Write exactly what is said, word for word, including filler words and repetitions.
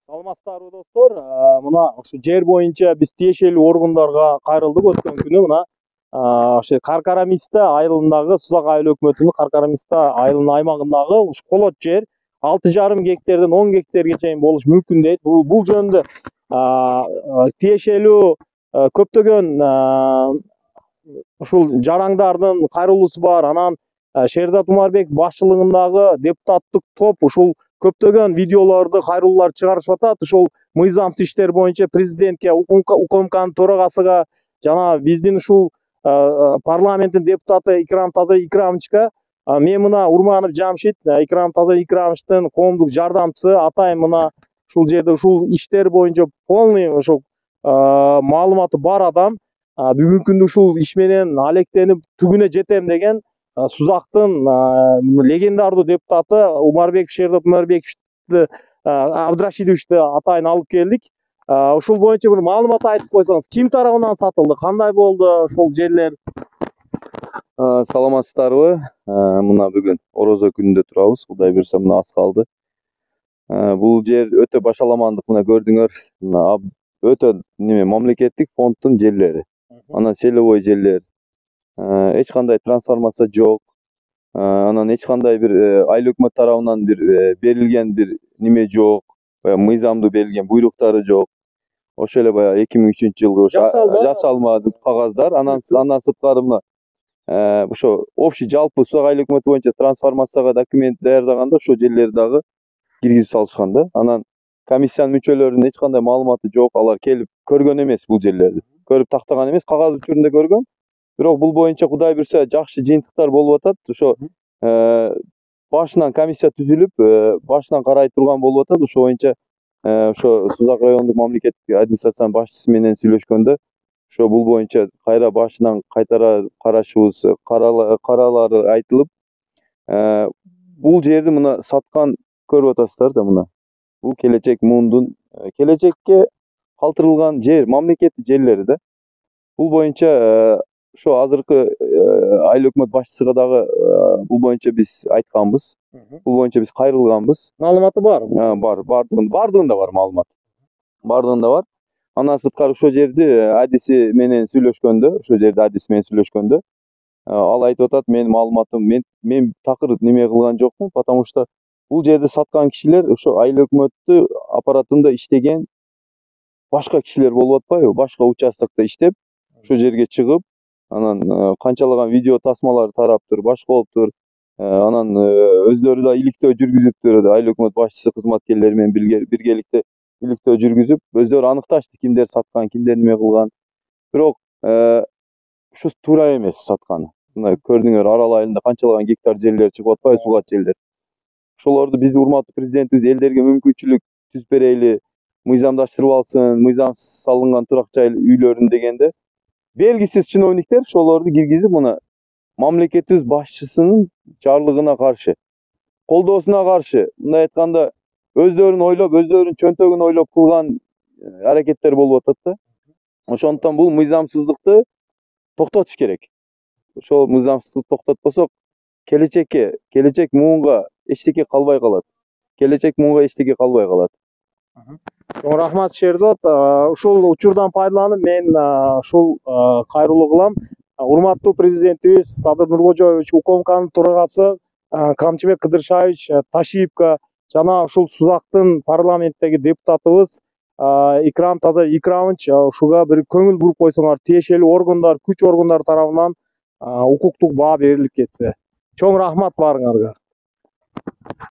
Саламатсыздарбы достор. Мына ушу жер боюнча биз тиешелүү органдарга кайрылдык. Өткөн күнү мына ошо Каркарамиста айылындагы Сузак айыл өкмөтүнүн Каркарамиста айылынын аймагындагы ушу колот жер алты жарым гектардан он гектарга чейин болуш мүмкүн дейт. Бул бул жөнүндө тиешелүү көптөгөн ушул жарандардын кайрылуусу бар. Анан Шерзат Умарбеков башчылыгындагы депутаттык топ ушул көптөгөн видеолорду, кайрылуулар чыгарышып атат. Ушул мыйзамсыз иштер боюнча президентке, УКМКнын төрагасыга жана биздин ушул парламенттин депутаты Икрам Таза Икрамовичка мен мына Урманов Жамшит, Икрам Таза Икрамовичтин коомдук жардамчысы, атайын мына ушул жерде ушул иштер боюнча полный ошол маалыматы бар адам. Бүгүнкү күндө ушул иш менен алектенип түгүнө жетем деген Сузактын легендардуу депутаты Умарбеков Шерзат Умарбековичти Абдрашидовичти атайын алып келдик. Ушул боюнча бир маалымат айтып койсоңуз, ким тарабынан сатылды, кандай болду ошол жерлер? Саламатсыздарбы? Мына бүгүн орозо күнүндө турабыз. Кудай буйрса мына аз калды. Бул жер өтө башаламандык, мына көрдүңөр. Өтө неме мамлекеттик фонддун жерлери. Анан селовой жерлер. Эч кандай трансформация жок. Анан эч кандай бир айыл өкмөт тарабынан бир берилген бир неме жок. Баягы мыйзамдуу берилген буйруктары жок. Ошо эле баягы эки миң үчүнчү жылгы жасалмады кагаздар. Анан андан сырткары мына ошо общий жалпы Сузак айыл өкмөтү боюнча трансформацияга документ даярдаганда ошо жерлерди дагы киргизип салышкан да. Анан комиссиянын мүчөлөрүнүн эч кандай маалыматы жок. Алар келип көргөн эмес бул жерлерди. Көрүп тактаган эмес, кагаз учурунда көргөн. Бирок бул боюнча Кудай буйрса жакшы жыйынтыктар болуп атат. Ошо башынан комиссия түзүлүп, башынан карай турган болуп атат. Ошо боюнча ошо Сузак райондук мамлекеттик администрациянын башчысы менен сүйлөшкөндө ошо бул боюнча кайра башынан кайтара карашыбыз, каралары айтылып, бул жерди мына саткан көрүп атасыздар да мына. Бул келечек муундун келечекке калтырылган жер, мамлекеттик жерлери да. Бул боюнча ошо азыркы айыл өкмөт башчысыга дагы бул боюнча биз айтканбыз. Бул боюнча биз кайрылганбыз. Маалыматы бар? Бар, бардыгында, бардыгында бар маалымат. Бардыгында бар. Андан сырткары ошо жерди адиси менен сүйлөшкөндө, ошо жерди адиси менен сүйлөшкөндө, ал айтып атат, менин маалыматым, мен мен такыр неме кылган жокмун, потому что бул жерди саткан кишилер ошо айыл өкмөттү аппаратында иштеген башка кишилер болуп атпайбы? Башка участокто иштеп, ошо жерге чыгып, анан канчалаган видео тасмалар тараптыр, башка болуптур. Анан өздөрү да иликтөө жүргүзүптүр, айыл өкмөт башчысы кызматкерлери менен биргеликте иликтөө жүргүзүп, өздөрү аныкташты кимдер саткан, кимдер неме кылган. Бирок ушу туура эмес сатканы. Мына көрдүңөр, Арал айылында канчалаган гектар жерлер чыгып атпайбы, сугат жерлер. Ошолорду биз урматтуу президентибиз элдерге мүмкүнчүлүк түзүп берели, мыйзамдаштырып алсын, мыйзамсыз салынган турак жай үйлөрүн дегенде белгисиз чиновниктер ошолорду киргизип, мына мамлекетибиз башчысынын жарлыгына каршы, колдоосуна каршы, мындай айтканда өздөрүн ойлоп, өздөрүнүн чөнтөгүн ойлоп кылган аракеттер болуп атат да. Ошондуктан бул мыйзамсыздыкты токтотуш керек. Ошол мыйзамсыздыкты токтотпосок, келечекке, келечек муунга эчтеке калбай калат. Келечек муунга эчтеке калбай калат. Чоң рахмат Шерзат. Ушул учурдан пайдаланып мен ушул кайрылуу кылам. Урматтуу президентибиз Садыр Нуркожоевич, УКМКнын төрагасы Камчыбек Кыдыршаевич Ташиевка жана ушул Сузактын парламенттеги депутатыбыз Икрам Таза Икрамович ушуга бир көңүл буруп койсоңор, тиешелүү органдар, күч органдары тарабынан укуктук баа берилип кетсе. Чоң рахмат баарыңарга.